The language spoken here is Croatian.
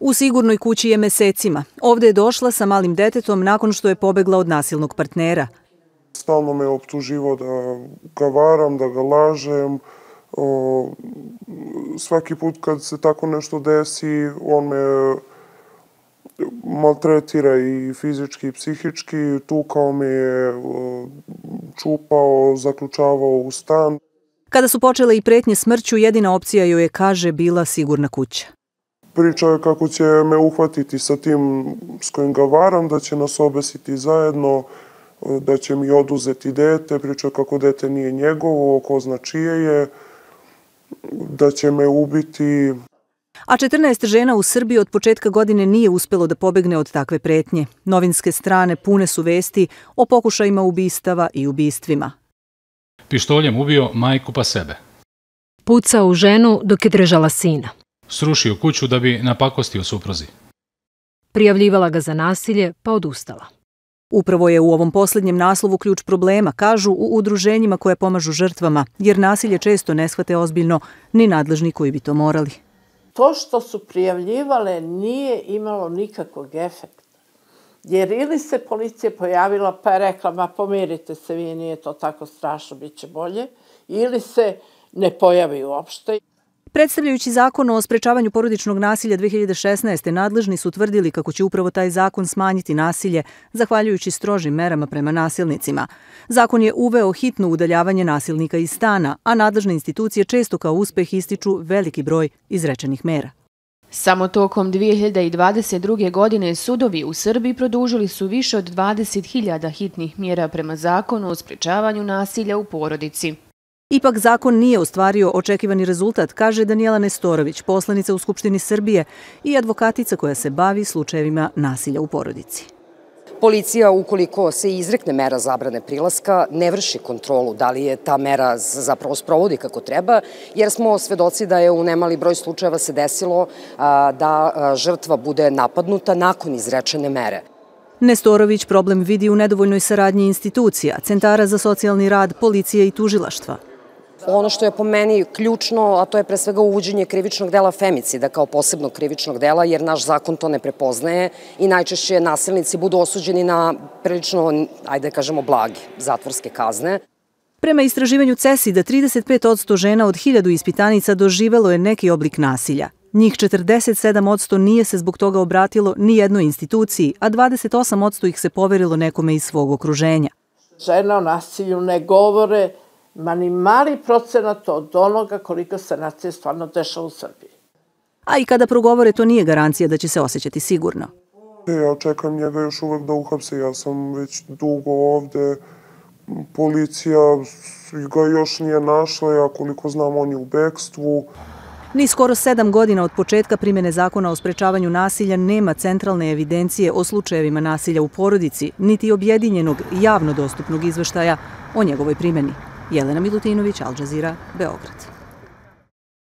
U sigurnoj kući je mesecima. Ovdje je došla sa malim detetom nakon što je pobegla od nasilnog partnera. Stalno me optuživao da ga varam, da ga lažem. Svaki put kad se tako nešto desi, on me maltretira i fizički i psihički. Tukao me je, čupao, zaključavao u stan. Kada su počele i pretnje smrću, jedina opcija joj je, kaže, bila sigurna kuća. Pričao je kako će me uhvatiti sa tim s kojim ga varam, da će nas obesiti zajedno, da će mi oduzeti dete. Pričao je kako dete nije njegovo, ko zna čije je, da će me ubiti. A 14 žena u Srbiji od početka godine nije uspelo da pobegne od takve pretnje. Novinske strane pune su vesti o pokušajima ubistava i ubistvima. Pištoljem ubio majku pa sebe. Pucao u ženu dok je držala sina. Srušio kuću da bi napakostio supruzi. Prijavljivala ga za nasilje pa odustala. Upravo je u ovom posljednjem naslovu ključ problema, kažu u udruženjima koje pomažu žrtvama, jer nasilje često ne shvate ozbiljno ni nadležni koji bi to morali. To što su prijavljivale nije imalo nikakvog efekta. Jer ili se policija pojavila pa je rekla, ma pomirite se vi, nije to tako strašno, bit će bolje, ili se ne pojavi uopšte. Predstavljajući zakon o sprečavanju porodičnog nasilja 2016. nadležni su tvrdili kako će upravo taj zakon smanjiti nasilje, zahvaljujući strožim merama prema nasilnicima. Zakon je uveo hitno udaljavanje nasilnika iz stana, a nadležne institucije često kao uspeh ističu veliki broj izrečenih mera. Samo tokom 2022. godine sudovi u Srbiji produžili su više od 20.000 hitnih mjera prema zakonu o sprečavanju nasilja u porodici. Ipak zakon nije ostvario očekivani rezultat, kaže Danijela Nestorović, poslanica u Skupštini Srbije i advokatica koja se bavi slučajevima nasilja u porodici. Policija, ukoliko se izrekne mera zabrane prilaska, ne vrši kontrolu da li je ta mera zapravo sprovodi kako treba, jer smo svedoci da je u nemali broj slučajeva se desilo da žrtva bude napadnuta nakon izrečene mere. Nestorović problem vidi u nedovoljnoj saradnji institucija, centara za socijalni rad, policije i tužilaštva. Ono što je po meni ključno, a to je pre svega uvođenje krivičnog dela femicida kao posebnog krivičnog dela, jer naš zakon to ne prepoznaje i najčešće nasilnici budu osuđeni na prilično, ajde kažemo, blage zatvorske kazne. Prema istraživanju CESID-a, 35% žena od 1000 ispitanica doživelo je neki oblik nasilja. Njih 47% nije se zbog toga obratilo ni jednoj instituciji, a 28% ih se poverilo nekome iz svog okruženja. Žene o nasilju ne govore, ma ni mali procenat od onoga koliko se nasilje stvarno dešava u Srbiji. A i kada progovore, to nije garancija da će se osjećati sigurno. Ja čekam njega još uvek da uhapse, ja sam već dugo ovde. Policija ga još nije našla, ja koliko znam on je u bekstvu. Ni skoro 7 godina od početka primjene zakona o sprečavanju nasilja nema centralne evidencije o slučajevima nasilja u porodici, niti objedinjenog javno dostupnog izveštaja o njegovoj primjeni. Jelena Milutinović, Al Jazeera, Beograd.